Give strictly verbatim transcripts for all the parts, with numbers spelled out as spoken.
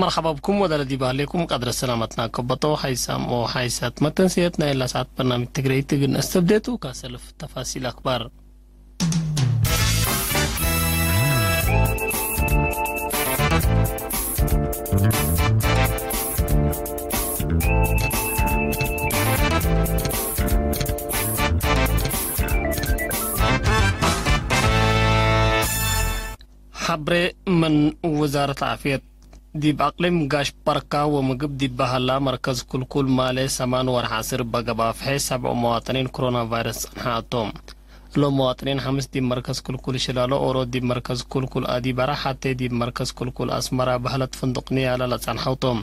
መርሐባ ብኩም ወዳለ ዲብ ሀሌኩም ቀድረ ሰላመትና ከበጦ። ሀይሳም ወሀይሳት መተንስየት ናይ እላ ሰዓት በርናምጅ ትግረይት እግል ነስተብዴቱ ካሰልፍ ተፋሲል አክባር። ሐብሬ ምን ውዛረት ዓፍየት። ዲብ አቅሊም ጋሽ በርካ ወምግብ ዲብ በሀላ መርከዝ ኩልኩል ማሌ ሰማን ወርሕ ዐስር በገባ ፍሐ ሰብዑ መዋጥኒን ኮሮና ቫይረስ ጸንሐ አቶም። እሎም መዋጥኒን ሐምስ ዲብ መርከዝ ኩልኩል ሽላሎ፣ ኦሮ ዲብ መርከዝ ኩልኩል አዲበራ፣ ሐቴ ዲብ መርከዝ ኩልኩል አስመራ በህለት ፍንዱቅ ንያላ ለጸንሐው ቶም።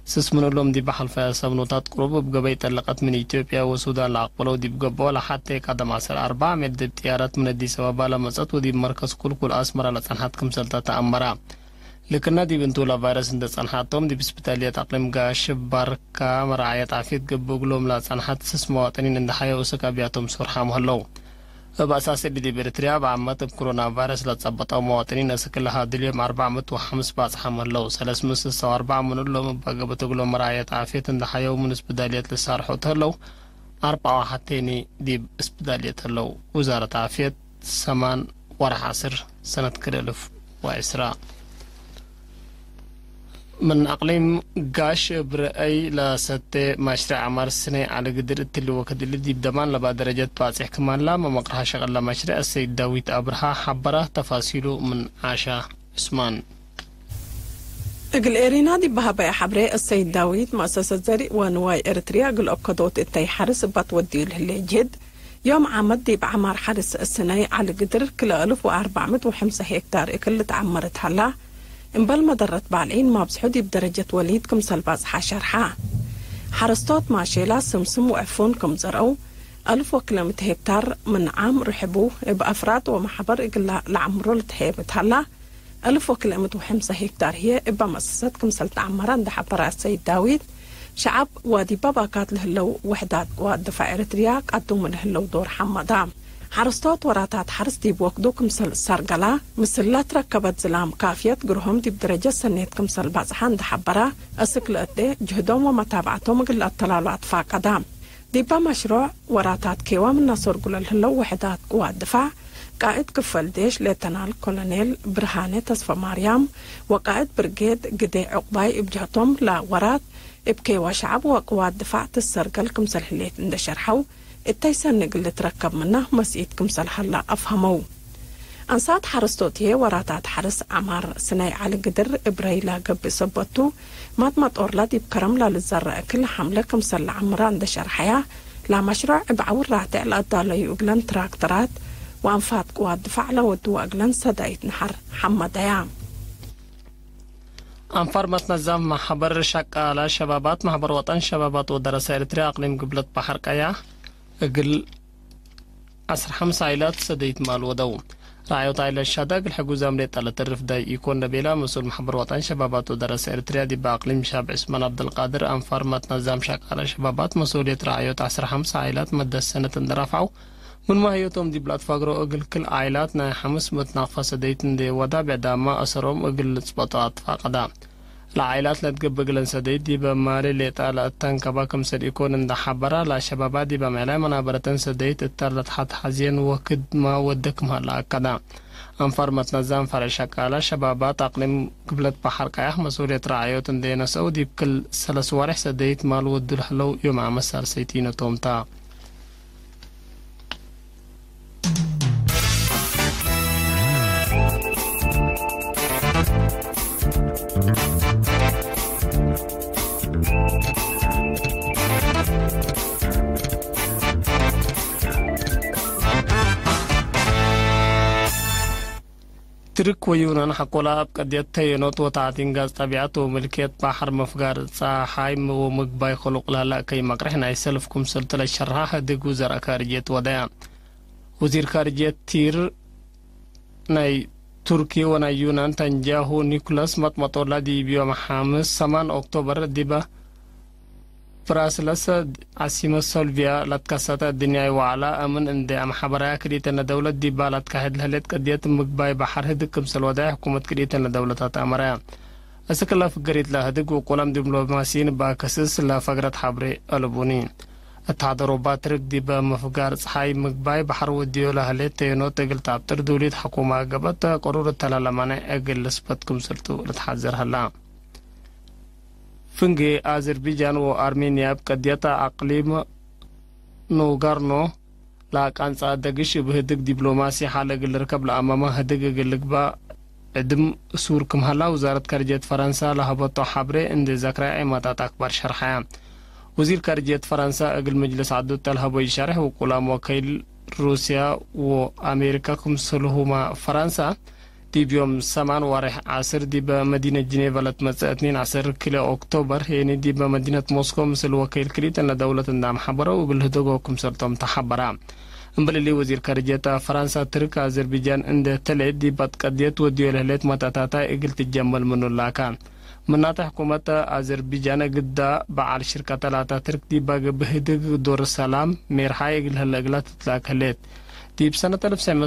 ስስ ምን እሎም ዲብ ሐልፈያ ሰብኖታት ቅሩብ እብ ገበይ ጠለቀት ምን ኢትዮጵያ ወሱዳን ለአቅበለው ዲብ ገብኦ፣ ለሐቴ ቀደም ዐሰር አርበዕ ሜል ዲብ ጥያረት ምን አዲስ አበባ ለመጸት ወዲብ መርከዝ ኩልኩል አስመራ ለጸንሐት ክምሰልታ ተአመራ። ልክና ዲብ እንቱ ለቫይረስ እንደ ጸንሐቶም ዲብ ስፒታልየት አቅሊም ጋሽ ባርካ መርዓየት ዓፍየት ገብእ እግሎም ለጸንሐት ስስ መዋጥኒን እንደ ሐየው እስክ አብያቶም ሶርሓም ሀለው። እብ አሳስ እሊ ዲብ ኤርትርያ እብ ዓመት እብ ኮሮና ቫይረስ ለጸበጠው መዋጥኒን እስክ ለሀድል ዮም አርበዕ ምእት ወሐምስ ባጽሓም ሀለው። ሰለስ ምእት ስሳ ወአርበዕ ምን እሎም እብ አገብት እግሎም መርዓየት ዓፍየት እንደ ሐየው ምን ስፒታልየት ልሳርሖ ተህለው። አርበዕ ወሐቴኒ ዲብ ስፒታልየት ሀለው። ውዛረት ዓፍየት ሰማን ወርሕ ዐስር ሰነት ክልኤ እልፍ ወዕስራ። ምን አቅሊም ጋሽ እብ ረአይ ለሰቴ ማሽረዕ ዐማር ስነይ ዐሊ ግድር እትሊ ወክድ እሊ ዲብ ደማን ለባ ደረጀት ባጽሕ ክማላ መመቅርሐ ሸቅል ለማሽረዕ አሰይድ ዳዊት አብርሃ ሐበረ። ተፋሲሉ ምን ዓሻ ዑስማን። እግል ኤሪና ዲብ በሀበየ ሐብሬ፣ አሰይድ ዳዊት፣ መአሰሰት ዘሪእ ወንዋይ ኤረትርያ እግል ኦከዶት እተይ ሐርስ እባት ወድዩ ለህሌ ጅህድ፣ ዮም ዓመት ዲብ ዐማር ሐርስ ስነይ ዐሊ ግድር ክልኤ እልፍ ወአርበዕ ምእት ወሐምሳ ሄክታር እክል ልትዐመር እት ሀላ፣ እምበል መደረት ባልዒን ማብዝሑ ዲብ ደረጀት ወሊድ ክምሰል ባጽሓ ሸርሓ። ሐረስቶት ማሼላ፣ ስምስም ወዕፉን ክም ዘርአው፣ አልፍ ወክልኤ ምእት ሄክታር ምን ዓም ርሕቡ እብ አፍራድ ወመሐበር እግል ለዐምሮ ልትሀየብ እት ሀላ፣ አልፍ ወክልኤ ምእት ወሐምሳ ሄክታር ህዬ እበ መአሰሰት ክምሰል ተዐመረ እንዴ ሐበረ አሰይድ ዳዊት፣ ሸዐብ ወዲበ ባካት ለህለው ውሕዳት ቅዋት ድፋዕ ኤረትርያ ቀዱሙ ለህለው ዶር ሐመዳ። ሐረስቶት ወራታት ሐርስ ዲብ ወክዱ ክምሰል እሰርገላ፣ ምስል ለትረከበት ዝላም ካፍየት ግርሆም ዲብ ደረጀት ሰኔት ክምሰል ባጽሓ እንዴ ሐበረ፣ እስክ ለእዴ ጅህዶም ወመታብዐቶም እግል ለአተላሉ አትፋቀደ። ዲበ መሽሮዕ ወራታት ኬዋ ምነ ሰርጉ ለልህለው ውሕዳት ቅዋት ድፋዕ፣ ቃእድ ክፈል ዴሽ ሌተናል ኮሎኔል ብርሃኔ ተስፈማርያም ወቃእድ ብርጌድ ግዴ ዑቅባይ እብ ጀህቶም፣ ለወራት እብ ኬዋ ሸዐብ ወቅዋት ድፋዕ ትሰርገል ክምሰል ህሌት እንዴ ሸርሐው፣ እተይ ሰኒ እግል ልትረከብ ምነ መስኢት ክምሰል ሀላ አፍሀመው። አንሳት ሐረስቶት ህዬ ወራታት ሐርስ ዐማር ስነይ ዐሊ ግድር እብ ረይ ለገብእ ሰበት ቱ፣ ማት መጦርለ ዲብ ከረም ለልዘረ እክል ሐምለ ክምሰል ለዐምራ እንዴ ሸርሐያ፣ ለመሽሮዕ እብ ዐውር ራቴዕ ለአዳለዩ እግለን ትራክተራት ወአንፋት ቅዋት ድፋዕ ለወድወ እግለን ሰዳይት ነሐር ሐመደያ። አንፋር መትነዛም ማሕበር ሸቃለ ሸባባት፣ ማሕበር ወጠን ሸባባት ወደረሰ ኤርትርያ አቅሊም ግብለት በሐር ቀያ እግል ዐስር ሐምስ ዓይላት ሰደይት ማል ወደው። ረአዮት ዓይላት ሻዳ እግል ሕጉዛም ሌጠ ለተርፍ ዳይ ኢኮን ለቤላ መስኡል ማሕበር ወጠን ሸባባት ወደረሰ ኤርትርያ ዲብ አቅሊም ሻብ ዑስማን ዐብደልቃድር አንፋር መትነዛም ሸቃለ ሸባባት መስኡልየት ረአዮት ዐስር ሐምስ ዓይላት መደት ሰነት እንደ ረፍዐው፣ ምን ማህየቶም ዲብ ለአትፋግሮ እግል ክል ዓይላት ናይ ሐምስ ምእት ናቅፋ ሰደይት እንዴ ወዳብዕ ዳማ አሰሮም እግል ልጽበጦ አትፋቀዳ። ለዓይላት ለትገብእ እግለን ሰደይት ዲበ ማሌ ሌጣ ለአተንከባ ክምሰል ኢኮን እንደ ሐበራ፣ ለሸባባት ዲበ ምዕላይ መናበረተን ሰደይት እተ ለትሐትሐዜን ወክድመ ወደ ክም ሀለ አከደ። አንፋር መትነዛም ፈርዕ ሸቃለ ሸባባት አቅሊም ግብለት በሐር ቀያሕ መስኡልየት ረዓዮት እንዴ ነሰአው፣ ዲብ ክል ሰለስ ወሬሕ ሰደይት ማል ወዱ ለህለው ዮም አመት ሳልሰይቲነ ቶም ተ። ትርክ ወዩናን ሐቆላ እብ ቀድየት ተየኖት ወተዕቲን ጋዝ ጠቢዐት ወምልክየት በሐር መፍጋር ጸሓይ ወምግባይ ክሉቅ ለህለ እከይ መቅርሕ ናይ ሰልፍ ክምሰልቱ ለሸርሐ ህድግ ውዘር ካርጅየት ወደያ። ወዚር ካርጅየት ቲር ናይ ቱርኪ ወናይ ዩናን ተንጃሁ ኒኩለስ መጥመጦላ ዲብ ዮም ሐምስ ሰማን ኦክቶበር ዲበ ብራስለስ ዓሲመት ሶልቪያ ለትከሰተ እድንያይ ወዐላ አምን እንዴ አምሐበራያ ክልኢተነ ደውለት ዲባ ለትካሄድ ለህሌት ቅድየት ምግባይ በሐር ህድግ ክምሰል ወደዐ ሕኩመት ክልኢተነ ደውለታት አመረያ። እስክ ለፍገሪት ለህድግ ውቁላም ዲፕሎማሲን ባክስስ ለፈግረት ሐብሬ አልቡኒ። እት ሐደሮባ ትርክ ዲበ ምፍጋር ጸሓይ ምግባይ በሐር ወድዮ ለህሌት ተየኖት እግል ተአብጥር ዱሊት ሕኩማ ገብአት ቅሩር እተለ ለማንዕ እግል ልስበት ክምስልቱ ልትሐዘር ሀላ። ፍንጌ አዘርቢጃን ወአርሜንያ እብ ቀድየት አቅሊም ኖጋርኖ ለአቃንጸ አደግሽ እብ ህድግ ዲፕሎማሲ ሐል እግል ልርከብ ለአመመ ህድግ እግል ልግበእ ዕድም ሱር ክም ሀላ ውዛረት ካርጅየት ፈረንሳ ለሀበቶ ሐብሬ እንዴ ዘክረ ዔማታት አክባር ሸርሐየ። ወዚር ካርጅየት ፈረንሳ እግል ምጅልስ ዐዱ እተ ለሀቦ ኢሸሬሕ ውቁላም ወከይል ሩስያ ወአሜሪካ ክምስልሁመ ፈረንሳ ዲብ ዮም ሰማን ዋሬሕ ዐስር ዲበ መዲነት ጅኔቨ ለትመጽእ እትኒን ዐስር ክልኤ ኦክቶበር ሄኒ ዲበ መዲነት ሞስኮ ምስል ወከይል ክልኢተን ለደውለት እንደ አምሐበረው እግል ህደጎ ክምሰልቶም ተሐበረ። እምበል እሊ ወዚር ካርጅየት ፈረንሳ ትርክ አዘርቢጃን እንደ ተሌ ዲብ አትቀድየት ወድዮ ለህሌት መታታታይ እግል ትጀመል ምኑ ላከ። ምናተ ሕኩመት አዘርቢጃን ግዳ በዓል ሽርከተ ላተ ትርክ ዲብ አግብ ህድግ ዶር ሰላም ሜርሓይ እግል ህለ እግላ ትትላክ ህሌት። ዲብ ሰነት አልፍ ሰዕ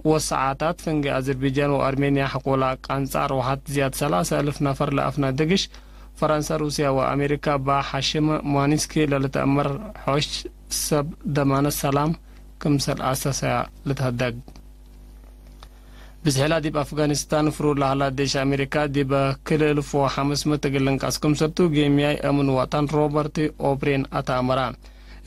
ወሰዓታት ፍንጌ አዘርቢጃን ወአርሜንያ ሕቆላ ቃንጻ ርውሓት ዝያድ ሰላሰ አልፍ ነፈር ለአፍና ደግሽ፣ ፈረንሳ፣ ሩስያ ወአሜሪካ እባ ሐሽም ማኒስኪ ለልትአመር ሖሽ ሰብ ደማነት ሰላም ክምሰል አሳሰያ ልትሀደግ። ብዝሒላ ዲብ አፍጋኒስታን ፍሩር ለሀላ ዴሽ አሜሪካ ዲበ ክልኤ እልፍ ወሐምስ ምእት እግል ልንቀስ ክምሰልቱ ጌምያይ አምን ወጠን ሮበርት ኦብሬን አተአመረ።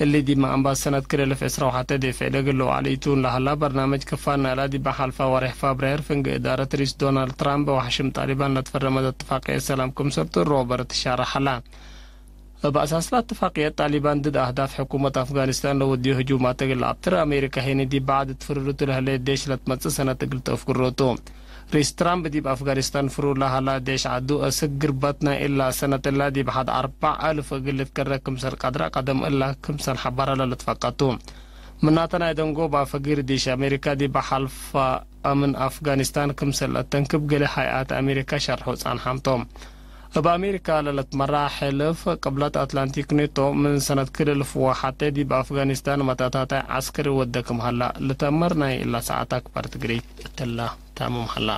እሊ ዲብ መአንባስ ሰነት ክልኤ እልፍ ዕስራ ወሐቴ ዴፍዕ ለእግል ለወዐለ ኢቱን ለሀላ በርናመጅ ክፋል ናይላ ዲብ ሐልፋ ወሬሕ ፋብራየር ፍንጌ እዳረት ርኢስ ዶናልድ ትራምፕ ወሐሽም ጣሊባን ለትፈረመት እትፋቅየት ሰላም ክምሰልቱ ሮበርት ሻርሕ ሀላ። እብ አሳስ ለእትፋቅየት ጣሊባን ድድ አህዳፍ ሕኩመት አፍጋኒስታን ለወድዮ ህጁማት እግል ለአብጥር አሜሪካ ሄኒ ዲብ በዕድ እት ፍሩርቱ ለህሌት ዴሽ ለትመጽእ ሰነት እግል ተአፍግሮ ቱ። ርኢስ ትራምፕ ዲብ አፍጋኒስታን ፍሩር ለሀላ ዴሽ ዐዱ አስክ ግርበት ናይ እላ ሰነት እላ ዲብ ሐድ አርበዕ አልፍ እግል ልትከረ ክምሰል ቀድረ ቀደም እላ ክምሰል ሐበረ ለልትፈቀ ቱ። ምናተ ናይ ደንጎባ ፈጊር ዲሽ አሜሪካ ዲብ ሐልፋ አምን አፍጋኒስታን ክምሰል ለአተንክብ ገሌ ሀይአት አሜሪካ ሸርሑ ጸንሐም ቶም። እብ አሜሪካ ለልትመራ ሕልፍ ቅብለት አትላንቲክ ኔቶ ምን ሰነት ክልኤ እልፍ ወሐቴ ዲብ አፍጋኒስታን መታታታይ ዐስከሪ ወደ ክም ሀላ ልተአመር ናይ እላ ሰዓት አክባር ትግሪት እትላ ታምም ሀላ።